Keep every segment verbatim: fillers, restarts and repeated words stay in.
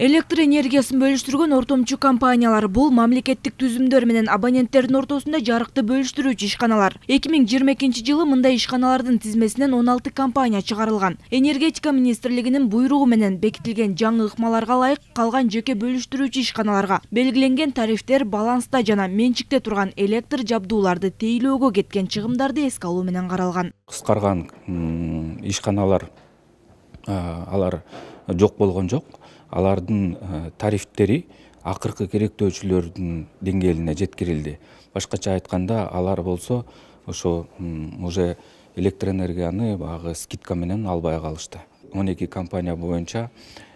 Электр энергиясын бөлүштүргөн ортомчу компаниялар бул мамлекеттик түзүмдөр менен абоненттердин ортосунда жарыкты бөлүштүрүүчү ишканалар. эки миң жыйырма экинчи жылы мындай ишканалардын тизмесинен он алты компания чыгарылган. Энергетика министрлигинин буйругу менен бекитилген жаңы ыкмаларга ылайык калган жеке бөлүштүрүүчү ишканаларга белгиленген тарифтер баланста жана менчикте турган электр жабдууларды тейлөөгө кеткен чыгымдарды эске алуу менен каралган. Кыскарган ишканалар алар жок болгон жок. Алардын тарифтери акыркы керектөөчүлөрдүн деңгээлине жеткирилди. Башкача айтканда, алар болсо ошо уже электроэнергияны багы скидка менен албай калышты. он эки компания боюнча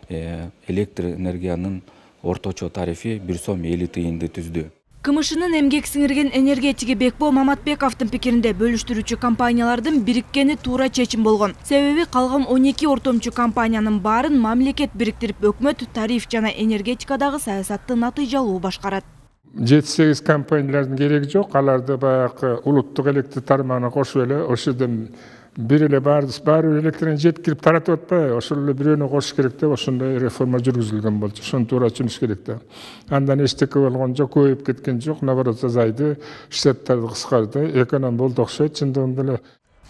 электр энергиянын орточо тарифи бир сом элүү тыйынды түздү. КМШнын эмгек сиңирген энергетиги Бекбол Маматбековдун пикиринде бөлүштүрүүчү компаниялардын бириккени туура чечим болгон. Себеби калган он эки ортомчу компаниянын баарын мамлекет бириктирип, өкмөт тариф жана энергетикадагы саясатты натыйжалуу башкарат. жети сегиз компаниялардын кереги жок. Аларды баягы улуттук электр тармагына кошуп эле ошодон бир эле баары баары электрин жеткирип таратып атпайбы? Ошол эле бирөөнү кошуш керек деп ошондой реформа жүргүзүлгөн болчу. Ошону туура түшүнүш керек да. Андан эчтеке болгон жок, көбөйүп кеткен жок, наоборот азайды, штаттарды кыскарды, эконом болду окшойт чындыгында эле.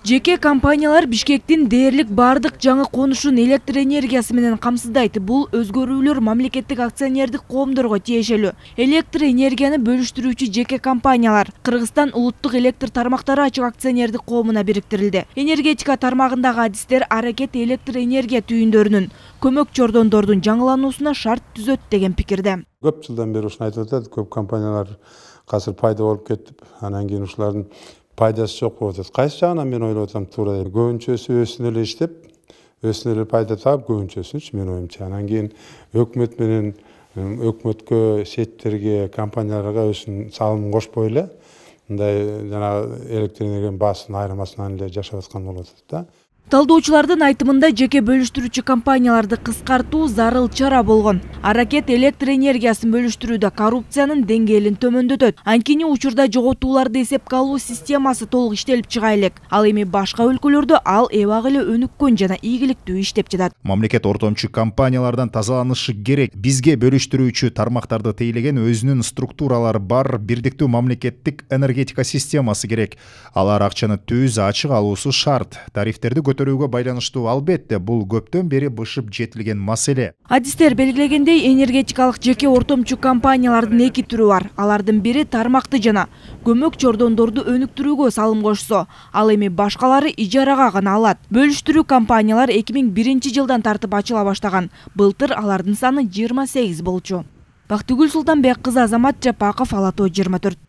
Жеке компаниялар Бишкектин дээрлик бардык жаңы конушун электр энергиясы менен камсыздайт. Бул өзгөрүүлөр мамлекеттик акционердик коомдорго тиешелүү. Электр энергияны бөлүштүрүүчү жеке компаниялар Кыргызстан улуттук электр тармактары ачык акционердик коомуна бириктирилди. Энергетика тармагындагы адистер аракет электр энергия түйүндөрүнүн көмөк чордондордун жаңылануусуна шарт түзөт деген пикирде. Көп жылдан бери ушуну айтып атат, көп компаниялар азыр пайда болуп кетип, анан кийин ушулардын пайдасы жок болуп атат. Кайсы жагынан мен ойлоп атам, туура көбүнчөсү өзүнө эле иштеп, өзүнө эле пайда таап, көбүнчөсүчү мен оюмча. Анан кийин өкмөт менен өкмөткө, сеттерге, компанияларга өзүнүн салымын кошпой эле мындай жана электр энергиянын баасын айырмасынан эле жашап аткан болуп атат да. Талдоочулардын айтымында жеке бөлүштүрүүчү компанияларды кыскартуу зарыл чара болгон. Аракет электр энергиясын бөлүштүрүүдө коррупциянын деңгээлин төмөндөтөт. Анткени учурда жоготууларды эсепке алуу системасы толук иштелип чыга элек. Ал эми башка өлкөлөрдө ал эбак эле өнүккөн жана ийгиликтүү иштеп жатат. Мамлекет ортомчу компаниялардан тазаланышы керек. Бизге бөлүштүрүүчү тармактарды тейлеген өзүнүн структуралары бар бирдиктүү мамлекеттик энергетика системасы керек. Алар акчаны түз ачык алуусу шарт. Тарифтерди көтөрүүгө байланыштуу, албетте, бул көптөн бери бышып жетилген маселе. Адистер белгилегендей, энергетикалык жеке ортомчу компаниялардын эки түрү бар. Алардын бири тармакты жана көмөк чордондорду өнүктүрүүгө салым кошсо, ал эми башкалары ижарага гана алат. Бөлүштүрүү компаниялар эки миң биринчи жылдан тартып ачыла баштаган. Былтыр алардын саны жыйырма сегиз болчу. Бактыгүл Султанбек кызы, Азамат Жапаков, Ала Тоо жыйырма төрт.